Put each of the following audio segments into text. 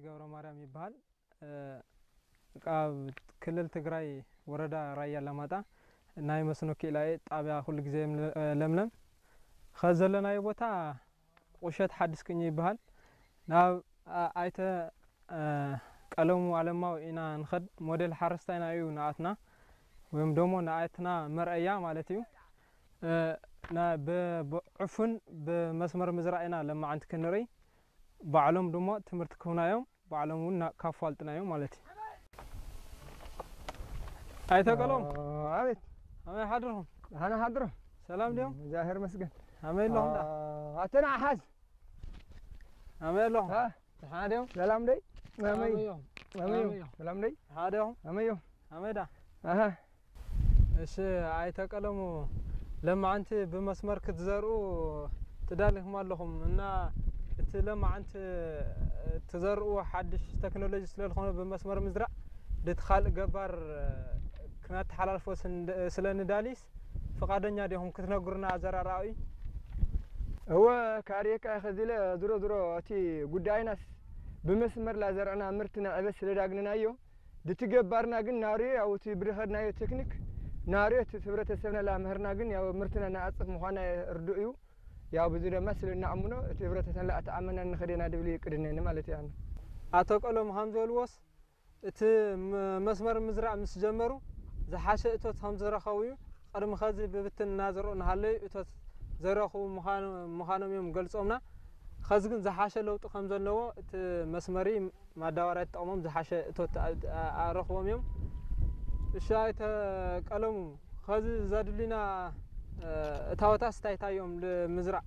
ገብረ ማርያም ይበሃል። ኣብ ክልል ትግራይ ወረዳ ራያ ኣላማጣ ናይ መስኖ ክኢላ እየ። ጣብያ ኩሉ ግዜ ለምለም። ኸዚ ዘለናዮ ቦታ ቁሸት ሓድሽ ቅኝ ይበሃል። ናብ ኣይተ ቀለሙ ኣለማው ኢና ንኸድ። ሞዴል ሓረስታይና እዩ ንኣትና፣ ወይም ደሞ ንኣትና መርኣያ ማለት እዩ። ብዕፉን ብመስመር ምዝራእ ኢና ለማዓንቲ ክንርኢ። ባዕሎም ድማ ትምህርቲ ክህቡና እዮም። ባዕሎም እውን ካፋልጥና እዮም ማለት እዩ። ኣይተቀሎም። ኣቤት። ኣመይ ሓድርኩም? ሃና ሓድሮ። ሰላም ድዮም? ዛሄር መስገን። ኣመይ ኣለኹም ዳ? ኣተና ሓዝ። ኣመይ ኣለኹም? ደሓና ድዮም? ሰላም ደይ? ኣመይ እዮም? ኣመይ ሰላም ደይ? ደሓና ድዮም? ኣመይ ኣመይ ዳ? ኣሃ። እሺ ኣይተቀለሙ። ለማዓንቲ ብመስመር ክትዘርኡ ትዳሊኹም ኣለኹም እና እቲ ለማዓንቲ ትዘርኡ ሓድሽ ቴክኖሎጂ ስለዝኾነ ብመስመር ምዝራእ ድቲ ካልእ ገባር ክነተሓላልፎ ስለ ንዳሊስ ፍቃደኛ ዲኹም ክትነግሩና ኣዘራራኡ? እወ ካርየካ ከዚለ ዝሮ ዝሮ እቲ ጉዳይናስ ብመስመር ላዘርዕና ምርትና ዕበት ስለዳግንናዮ ድቲ ገባርና ግን ናርዮ ያው እቲ ብድኸድናዮ ቴክኒክ ናርዮ እቲ ህብረተሰብና ላምህርና ግን ያው ምርትና ናኣጽፍ ምዃና ርዱእ እዩ። ያው ብዙ ደማ ስለ እናኣምኖ እቲ ህብረተሰብና ላኣተኣመና ንኸደና ድብል ይቅድነኒ ማለት እዩ። ኣቶ ቀሎም ሃም ዝበልዎስ እቲ መስመር ምዝራእ ምስ ጀመሩ ዝሓሸ እቶት ከም ዝረኸቡ እዩ። ቅድሚ ኸዚ ብብትን እናዘርኡ እናሃለዩ እቶት ዘይረኽቡ ምዃኖም እዮም ገልጾምና። ኸዚ ግን ዝሓሸ ለውጢ ከም ዘለዎ እቲ መስመሪ ማዳበርያ ተጠቕሞም ዝሓሸ እቶት ኣረኽቦም እዮም። እሺ ኣይተ ቀለሙ ኸዚ ዘድልዩና እታወታስ እንታይ እንታይ እዮም ንምዝራእ?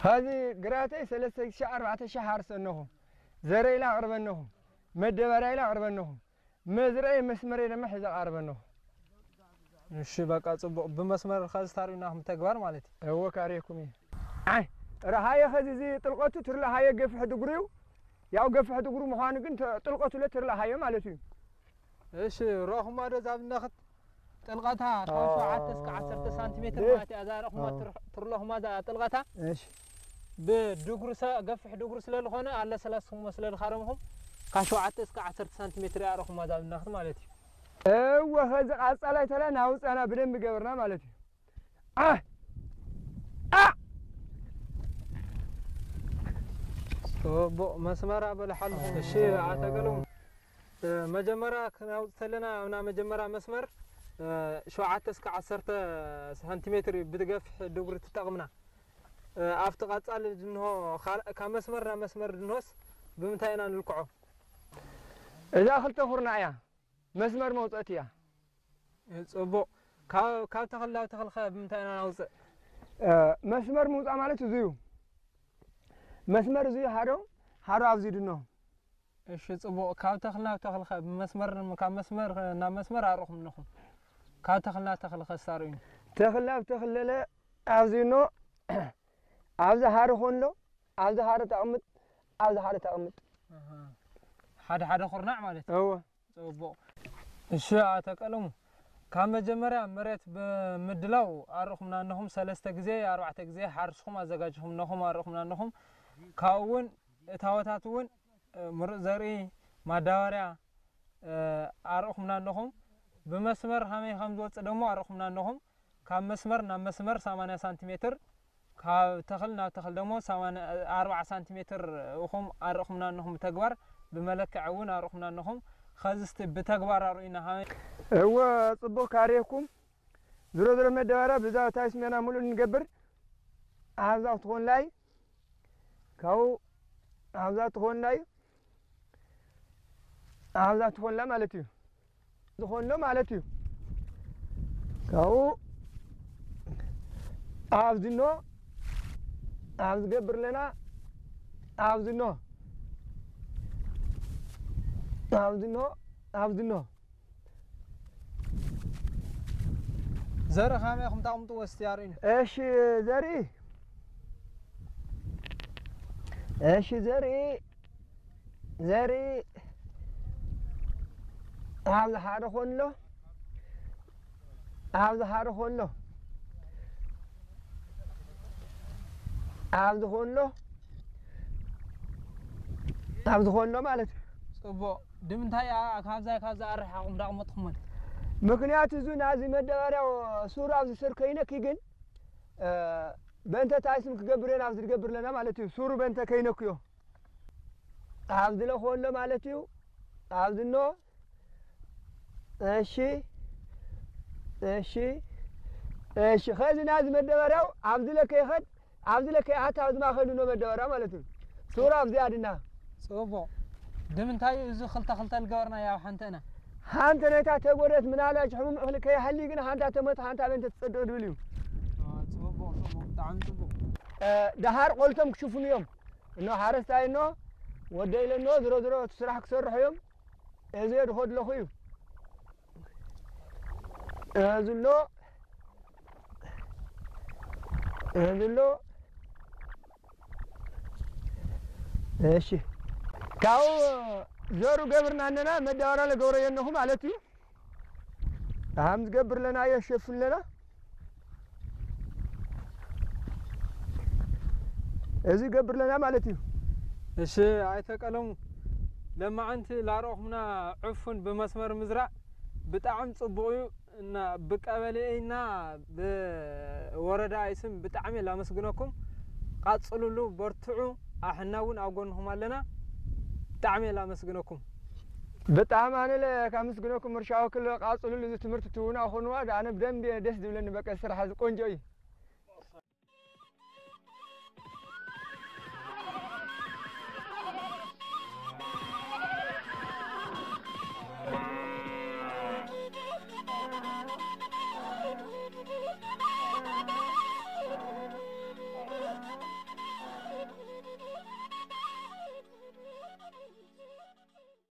ኸዚ ግራተይ ሰለስተ ሺሕ ኣርባዕተ ሺሕ ሓርሰ ኣነኹ፣ ዘረይ ኢላ ኣቕርበ ኣነኹ፣ መደበርያ ኢላ ኣቕርበ ኣነኹ፣ መዝረይ መስመረይ ድማ ሒዘ ኣቕርበ ኣነኹ። እሺ በቃ ጽቡቕ። ብመስመር ኸዚ ታሪናኹም ተግባር ማለት እዩ። እወ ካርየኩም እዩ። ኣይ ረሃየ ኸዚ እዚ ጥልቀቱ ትርለ ሃየ ገፍሕ ድጉሪ እዩ። ያው ገፍሕ ድጉሪ ምዃኑ ግን ጥልቀቱ ለ ትርለ ሃየ ማለት እዩ። እሺ ረኹማ ዶ ዛብነኽት ጥልቀታ ካብ ሸውዓተ እስከ ዓሰርተ ሳንቲሜትር ማለት እያ። እዛ ረኹማ ትርለኹማ እዛ ጥልቀታ እሺ ብድጉሪ ገፍሕ ድጉሪ ስለ ዝኾነ ኣለሰላስኹሞ ስለ ዝኻረምኹም ካብ ሸውዓተ እስከ ዓሰርተ ሳንቲሜትር እያ ረኹማ ዛብነኽት ማለት እዩ። እወ ኸዚ ቃጻላይ ተላ ናውፃና ብደንብ ገበርና ማለት እዩ። ዓ ዓ ጽቡቕ መስመር ኣበልሓሉ። እሺ ኣተገሎም መጀመርያ ክናውፅ ተለና ኣብና መጀመርያ መስመር ሸውዓተ እስከ ዓሰርተ ሳንቲሜትር እዩ ብትገፍሕ ድጉሪ ትጠቕምና። ኣብቲ ቐጻሊ ድንሆ ካብ መስመር ናብ መስመር ድንሆስ ብምንታይ ኢና ንልክዖ? እዛ ክልተ ኩርና እያ መስመር መውፀእቲ እያ። ጽቡቕ። ካብ ተኽሊ ናብ ተኽሊ ኸ ብምንታይ ኢና ናውፅእ? መስመር ምውፃእ ማለት እዙይ እዩ። መስመር እዙይ ሃዶ ሃዶ ኣብዚ ድንሆ እሺ ጽቡቕ። ካብ ተኽሊ ናብ ተኽሊ ኸ ብመስመር ካብ መስመር ናብ መስመር ኣርኹም ኣለኹም። ካብ ተኽሊ ናብ ተኽሊ ኸ ስታርኡኒ። ተኽሊ ናብ ተኽሊ ለለ ኣብዚ ኖ ኣብዚ ሓደ ኾንሎ ኣብዚ ሓደ ተቕምጥ ኣብዚ ሓደ ተቕምጥ ሓደ ሓደ ኹርናዕ ማለት እዩ። እወ ጽቡቕ። እሺ ኣቶ ቀለሙ ካብ መጀመርያ መሬት ብምድላው ኣርኹምና ኣለኹም ሰለስተ ግዜ ኣርባዕተ ግዜ ሓርስኹም ኣዘጋጅኹም ኣለኹም ኣርኹምና ኣለኹም ካብኡ እውን እታወታት እውን ምሩፅ ዘርኢ ማዳበርያ ኣርኹምና ኣለኹም ብመስመር ሃመይ ከም ዝወፅእ ደሞ ኣርኹምና ኣለኹም ካብ መስመር ናብ መስመር ሰማንያ ሳንቲሜትር ካብ ተኽል ናብ ተኽል ደሞ ኣርባዓ ሳንቲሜትር እኹም ኣርኹምና ኣለኹም ብተግባር ብመለክዕ እውን ኣርኹምና ኣለኹም ኸዚ እስቲ ብተግባር ኣርእዩና ሃመይ እወ ፅቡቅ ካሬኩም ዝሮ ዝሮ መደባርያ ብዛ ታይስ ሜና ሙሉእ ንገብር ኣብዛ ክትኾን ላይ ካብኡ ኣብዛ ትኾን ላይ ኣብዛ ትኾንላ ማለት እዩ ዝኾንሎ ማለት እዩ ካብኡ ኣብዚ ኖ ኣብዚ ገብር ኣለና ኣብዚ ኖ ኣብዚ ኖ ኣብዚ ኖ ዘርኢ ካመይ ኢኹም ታቕምጥዎ እስቲ ኣርእዩኒ። እሺ ዘርኢ እሺ ዘርኢ ዘርኢ ኣብዚ ሓደ ኮሎ ኣብዚ ሓደ ኮሎ ኣብዚ ኮሎ ካብ ዝኾኖ ማለት እዩ። ጽቡቕ። ድምንታይ እያ ካብዛ ካብዛ ኣረሓቑም ዳቕመጥኹመን? ምክንያቱ እዚ ናዚ መደበርያው ሱር ኣብዚ ስር ከይነኪ ግን በእንተ ታይስም ክገብር እየን ኣብዚ ዝገብር ኣለና ማለት እዩ። ሱሩ በእንተ ከይነክዮ ኣብዚ ለኾሎ ማለት እዩ። ኣብዚ ኖ እሺ እሺ እሺ ኸዚ ናዚ መደበርያው ኣብዚ ለከይኸድ ኣብዚ ለከይ ኣታ ኣብዚ ማኸሉ ኖ መደበርያ ማለት እዩ። ሱሩ ኣብዚ ኣድና ጽቡቕ። ድምንታይ እዩ እዚ ክልተ ክልተ ልገበርና ያው ሓንተና? ሓንቲ ነታ ተጎደት ምናልባች ሕሙም እኽሊ ከይሃሊ ግን ሓንታ ተመት ሓንታ በንተ ትጸድቕ ድብል እዩ። ጽቡቕ ጽቡቕ ብጣዕሚ ጽቡቕ። ደሃር ቆልቶም ክሽፍኑ እዮም። እኖ ሓረስታይ እኖ ወደ ኢለ እኖ ዝሮ ዝሮ እቲ ስራሕ ክሰርሑ እዮም። እዚ ድኸድለኹ እዩ። እዚ ኣሎ እዚ ኣሎ እሺ ካብኡ ዘሩ ገብርና ኣለና መዳበራ ለገብረ የነኹ ማለት እዩ። ኣም ዝገብር ለና የሸፍን ለና እዚ ገብር ለና ማለት እዩ። እሺ ኣይተቀለሙ ለማዓንቲ ላረኹምና ዕፉን ብመስመር ምዝራእ ብጣዕሚ ጽቡቕ እዩ። እና ብቀበሌና ብወረዳ ስም ብጣዕሚ ላመስግነኩም። ቃጽሉሉ፣ በርትዑ። ኣሕና እውን ኣብ ጎንኹም ኣለና። ብጣዕሚ ላመስግነኩም። ብጣዕሚ ኣነ ለ ካመስግነኩም። እርሻ ወክል ቃጽሉሉ፣ እዚ ትምህርቲ ትውና ኾንዋ ኣነ ብደንብ ደስ ዝብለኒ። በቃ ስራሕ እዚ ቆንጆ እዩ።